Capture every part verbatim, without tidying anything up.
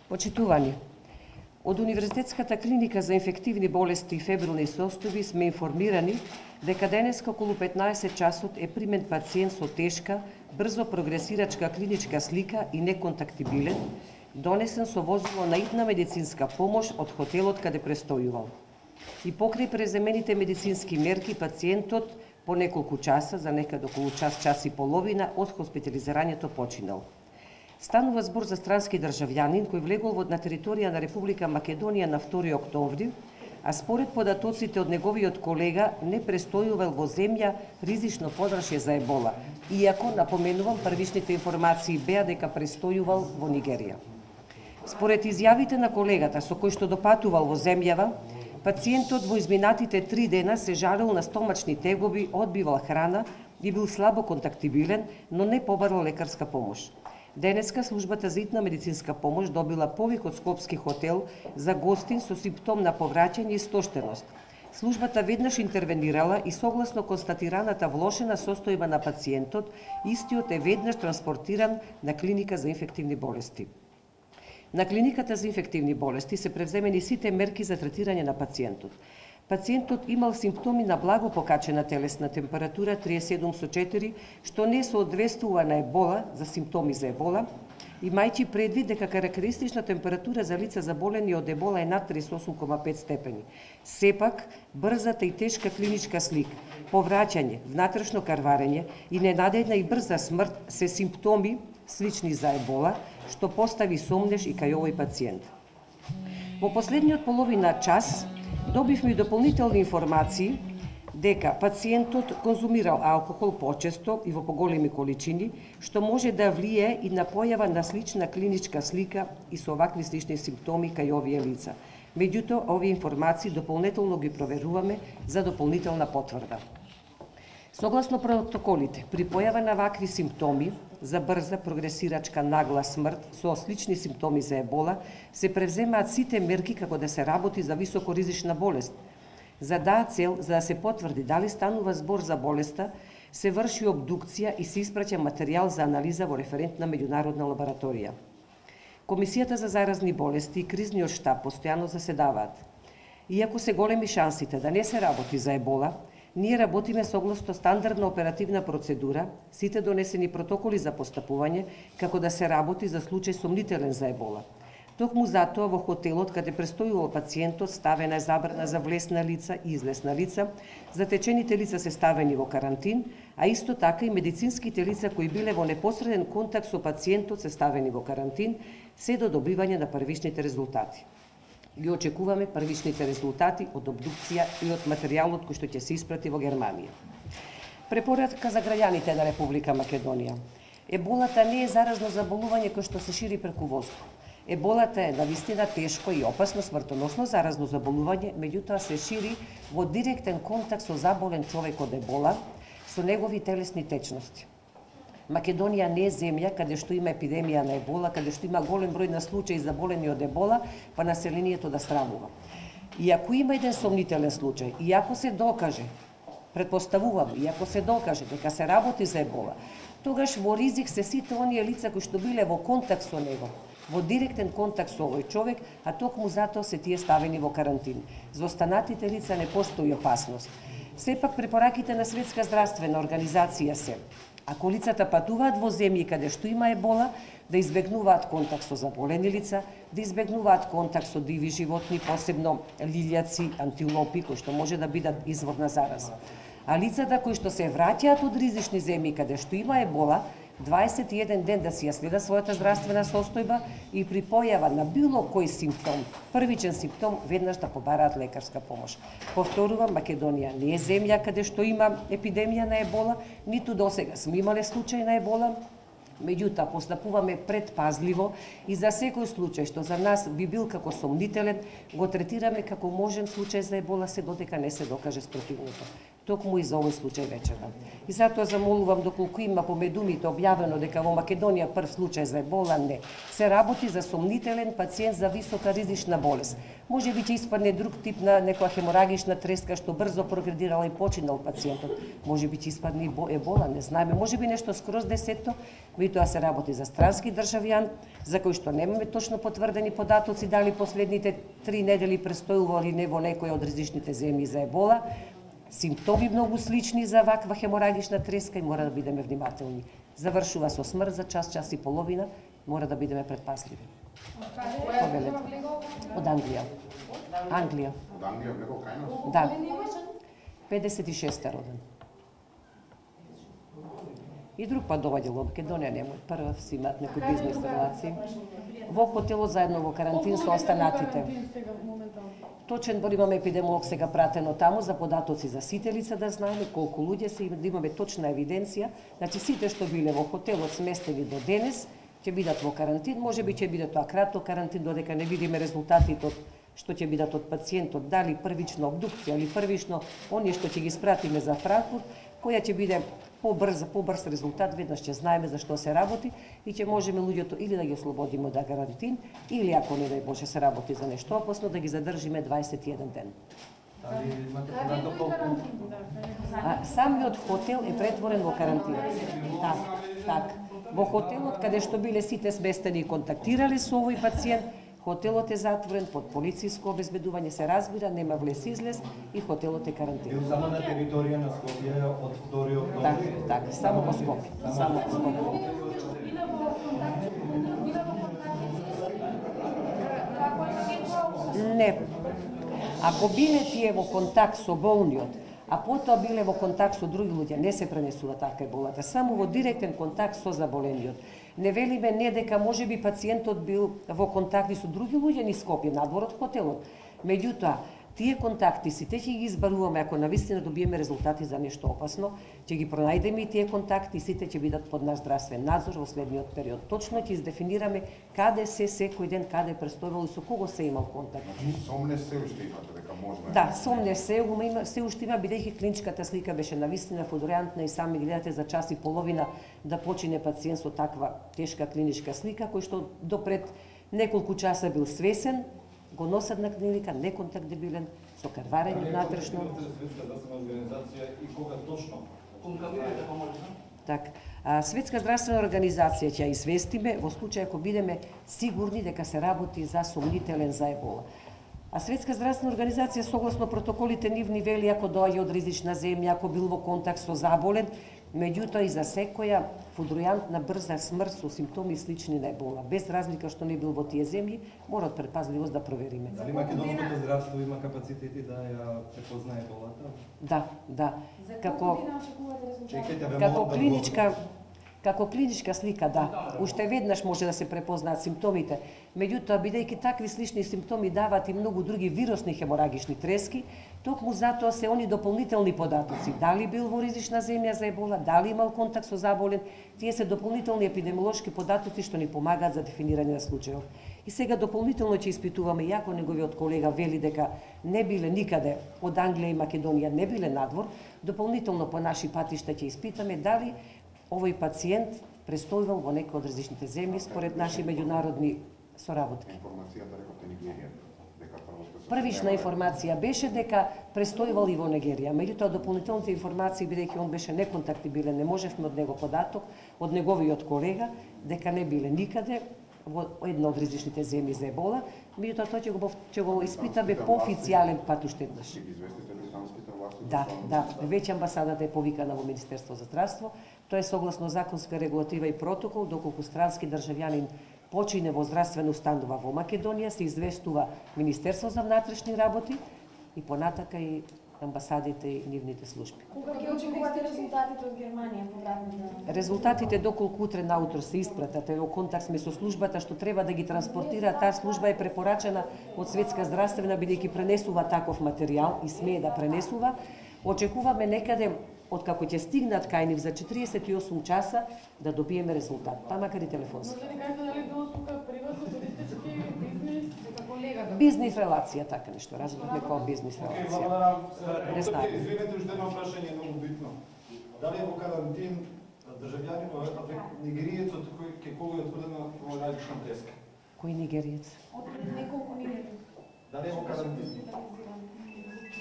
Почитувани, од Универзитетската клиника за инфективни болести и фебрилни состојби сме информирани дека денеска околу петнаесет часот е примен пациент со тешка, брзо прогресирачка клиничка слика и неконтактибилен, донесен со возило на итна медицинска помош од хотелот каде престојувал. И покрај преземените медицински мерки, пациентот по неколку часа, за некаде околу час, час и половина, од хоспитализирањето починал. Станува збор за странски државјанин кој влегол на територија на Република Македонија на втори октомври, а според податоците од неговиот колега не престојувал во земја ризично подрашје за ебола, иако, напоменувам, првичните информации беа дека престојувал во Нигерија. Според изјавите на колегата со кој што допатувал во земјава, пациентот во изминатите три дена се жалел на стомачни тегоби, одбивал храна и бил слабо контактибилен, но не побарал лекарска помош. Денеска службата за итна медицинска помош добила повик од Скопски хотел за гостин со симптом на повраќање и стоштеност. Службата веднаш интервенирала и согласно констатираната влошена состојба на пациентот, истиот е веднаш транспортиран на клиника за инфективни болести. На клиниката за инфективни болести се превземени сите мерки за третирање на пациентот. Пациентот имал симптоми на благо покачена телесна температура триесет и седум со четири, што не соодветствува на ебола, за симптоми за ебола, имајќи предвид дека карактеристична температура за лица заболени од ебола е над триесет и осум кома пет степени. Сепак, брзата и тешка клиничка слика, повраќање, внатрешно карварење и ненадејна и брза смрт се симптоми слични за ебола, што постави сомнеш и кај овој пациент. Во последниот половина час добивме дополнителни информации дека пациентот конзумирал алкохол почесто и во поголеми количини, што може да влие и на појава на слична клиничка слика и со овакви слични симптоми кај овие лица. Меѓутоа, овие информации дополнително ги проверуваме за дополнителна потврда. Согласно протоколите, при појава на вакви симптоми за брза прогресирачка нагла смрт со слични симптоми за ебола, се превземаат сите мерки како да се работи за високоризична болест. За таа цел, за да се потврди дали станува збор за болеста, се врши обдукција и се испраќа материјал за анализа во референтна меѓународна лабораторија. Комисијата за заразни болести и кризниот штаб постојано заседаваат. Иако се големи шансите да не се работи за ебола, ние работиме согласно стандардна оперативна процедура, сите донесени протоколи за постапување, како да се работи за случај сомнителен за ебола. Токму затоа во хотелот каде престојувал пациентот ставена е забрана за влез на лица и излез на лица, затечените лица се ставени во карантин, а исто така и медицинските лица кои биле во непосреден контакт со пациентот се ставени во карантин, се до добивање на првичните резултати. Ги очекуваме првичните резултати од обдукција и од материјалот кој што ќе се испрати во Германија. Препорака за граѓаните на Република Македонија. Еболата не е заразно заболување кој што се шири преку воздух. Еболата е навистина тешко и опасно смртоносно заразно заболување, меѓутоа се шири во директен контакт со заболен човек од ебола, со негови телесни течности. Македонија не е земја каде што има епидемија на ебола, каде што има голем број на случаи заболени од ебола, па населението да стравува. И ако има еден сомнителен случај, и ако се докаже, предпоставувам, и ако се докаже дека се работи за ебола, тогаш во ризик се сите оние лица кои што биле во контакт со него, во директен контакт со овој човек, а токму затоа се тие ставени во карантин. За останатите лица не постои опасност. Сепак препораките на Светска здравствена организација се: ако лицата патуваат во земји каде што има ебола, да избегнуваат контакт со заболени лица, да избегнуваат контакт со диви животни, посебно лилјаци, антилопи, кои што може да бидат извор на зараза. А лицата кои што се враќаат од ризични земји каде што има ебола, дваесет и еден ден да си ја следат својата здравствена состојба и при појава на било кој симптом, првичен симптом, веднаш да побараат лекарска помош. Повторувам, Македонија не е земја каде што има епидемија на ебола, ниту досега сме имале случај на ебола, меѓутоа постапуваме предпазливо и за секој случај што за нас би бил како сомнителен, го третираме како можен случај за ебола се додека не се докаже спротивното. токму и за овој случај вечерва. И затоа замолувам, доколку има по медумите објавено дека во Македонија прв случај за ебола, не. Се работи за сомнителен пациент за висока ризична болест. Може би ќе испадне друг тип на некоја хеморагична треска што брзо прогредирала и починал пациентот. Може би ќе испадне и ебола, не знаеме. Може би нешто скроз десетто, меѓутоа се работи за странски државјан, за кој што немаме точно потврдени податоци дали последните три недели престојува или не во некоја од ризичните земји за ебола. Симптоми многу слични за ваква хеморагична треска и мора да бидеме внимателни. Завршува со смрт за час, час и половина, мора да бидеме предпазливи. Повелете. Од Англија. Англија. Од Англија влегол кај нас? Да. педесет и шеста роден. И друг пат доаѓа во Македонија, немој прва си имаат некои бизнес релации. Во хотелот заедно во карантин со останатите. Точен број имаме епидемолог сега пратено таму за податоци за сите лица да знаеме колку луѓе се, да имаме точна евиденција. Значи сите што биле во хотелот сместени до денес ќе бидат во карантин, можеби ќе биде тоа краток карантин додека не видиме резултатите од што ќе бидат од пациентот, дали првична обдукција или првично оние што ќе ги спратиме за Франкфурт, која ќе биде побрз, побрз резултат, веднаш ќе знаеме за што се работи и ќе можеме луѓето или да ги ослободиме од карантин, или ако не дај Боже се работи за нешто опасно, да ги задржиме дваесет и еден ден. Дали имате податок колку? А, самиот хотел е претворен во карантин. Так, так. Во хотелот каде што биле сите сместени и контактирале со овој пациент, хотелот е затворен под полициско обезбедување, се разбира, нема влез-излез и хотелот е карантин. Бил само на територија на Скопје од втори октомври? Так, так, само во Скопје, само во Скопје. Не. Ако биле тие во контакт со болниот, а потоа биле во контакт со други луѓе, не се пренесува така еболата, само во директен контакт со заболениот. Не велиме не дека можеби пациентот бил во контакти со други луѓе низ Скопје, надвор од хотелот. Меѓутоа, тие контакти сите ќе ги избаруваме ако навистина добиеме резултати за нешто опасно, ќе ги пронајдеме и тие контакти и сите ќе бидат под наш здравствен надзор во следниот период. Точно ќе издефинираме каде се секој ден, каде престојувал и со кого се имал контакт. Сомнеш се уште имате дека можно? Да, сомнеш се, има, се уште има, бидејќи клиничката слика беше навистина флуорантна и сами гледате за час и половина да почине пациент со таква тешка клиничка слика, кој што допред неколку часа бил свесен, го носат на клиника, неконтактибилен, со карварење внатрешно. Светска здравствена организација и кога точно? Так, а, Светска здравствена организација ќе ја известиме во случај ако бидеме сигурни дека се работи за сомнителен за ебола. А Светска здравствена организација согласно протоколите нивни вели ако доаѓа од ризична земја, ако бил во контакт со заболен, меѓутоа и за секоја флудројантна брза смрт со симптоми слични на ебола, без разлика што не бил во тие земји, мора од предпазливост да провериме. Дали македонското здравство има капацитети да ја препознае еболата? Да, да. Како Чекайте, ве како молам да клиничка Како клиничка слика, да, уште веднаш може да се препознаат симптомите, меѓутоа, бидејќи такви слични симптоми дават и многу други вирусни хеморагични трески, токму затоа се они дополнителни податоци, дали бил во ризична земја за ебола, дали имал контакт со заболен, тие се дополнителни епидемиолошки податоци што ни помагаат за дефинирање на случајов. И сега дополнително ќе испитуваме, иако неговиот колега вели дека не биле никаде од Англија и Македонија, не биле надвор, дополнително по наши патишта ќе испитаме дали овој пациент престојувал во некој од различните земји според наши меѓународни соработки. Информацијата рековте Нигерија, дека прво сте Првична информација беше дека престојувал и во Нигерија, меѓутоа дополнителните информации, бидејќи он беше неконтактибилен, не можевме од него податок, од неговиот колега, дека не биле никаде во една од различните земји за ебола, меѓутоа тоа ќе го ќе го испитаме по официјален пат уште еднаш. Ќе ги известите британските власти? Да, да, веќе амбасадата е повикана во Министерство за здравство. Тоа е согласно законска регулатива и протокол, доколку странски државјанин почине во здравствена установа во Македонија, се известува Министерство за внатрешни работи и понатака и амбасадите и нивните служби. Кога ќе очекувате резултатите од Германија повратните? Резултатите доколку утре наутро се испратат, во контакт сме со службата што треба да ги транспортира, таа служба е препорачена од Светска здравствена бидејќи пренесува таков материјал и смее да пренесува. Очекуваме некаде откако ќе стигнат кај нив за четириесет и осум часа да добиеме резултат, па макар и телефонски. Може ли кажете дали било тука приватно, туристички, бизнес, како колега? Бизнес релација, така нешто, разбираме како бизнес релација. Не знаем. Извинете, уште едно прашање многу битно. Дали е во карантин државјанин од нигериецот кој ке кој е утврдено во радична теска? Кој нигериец? Од пред неколку недели. Дали е во карантин?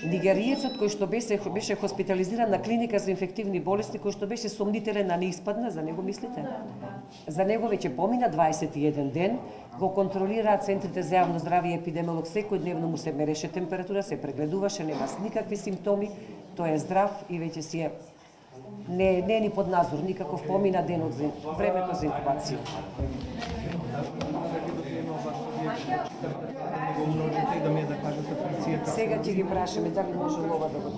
Нигериецот кој што беше беше хоспитализиран на клиника за инфективни болести, кој што беше сомнителен, а не испадна, за него мислите? За него веќе помина дваесет и еден ден, го контролираат центрите за јавно здравје и епидемиолог, секојдневно му се мереше температура, се прегледуваше, нема никакви симптоми, тој е здрав и веќе си е не не е ни под надзор, никаков помина денот за времето за инкубација. Да ми е да кажете функцијата. Сега ќе ги прашаме дали може ова да го